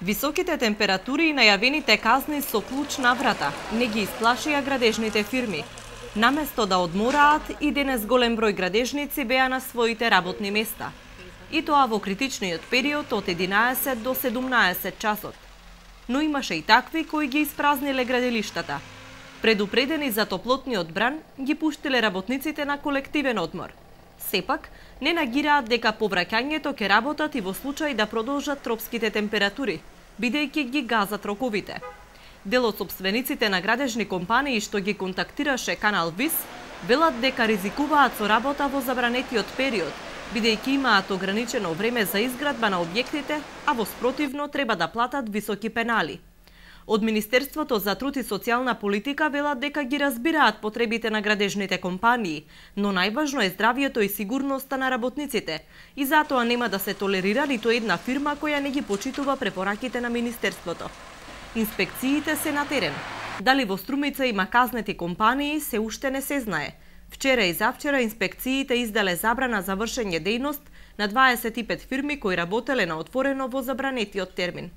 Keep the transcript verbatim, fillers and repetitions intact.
Високите температури и најавените казни со клуч на врата не ги исплашија градежните фирми. Наместо да одмораат, и денес голем број градежници беа на своите работни места. И тоа во критичниот период од единаесет до седумнаесет часот. Но имаше и такви кои ги испразниле градилиштата. Предупредени за топлотниот бран, ги пуштиле работниците на колективен одмор. Сепак, не нагираат дека повраќањето ќе работат и во случај да продолжат тропските температури, бидејќи ги газат роковите. Дел од сопствениците на градежни компании што ги контактираше Канал Вис, велат дека ризикуваат со работа во забранетиот период, бидејќи имаат ограничено време за изградба на објектите, а во спротивно треба да платат високи пенали. Од Министерството за труд и социјална политика велат дека ги разбираат потребите на градежните компании, но најважно е здравието и сигурноста на работниците, и затоа нема да се толерира ниту една фирма која не ги почитува препораките на Министерството. Инспекциите се на терен. Дали во Струмица има казнети компании, се уште не се знае. Вчера и завчера инспекциите издале забрана за вршење дејност на дваесет и пет фирми кои работеле на отворено во забранетиот термин.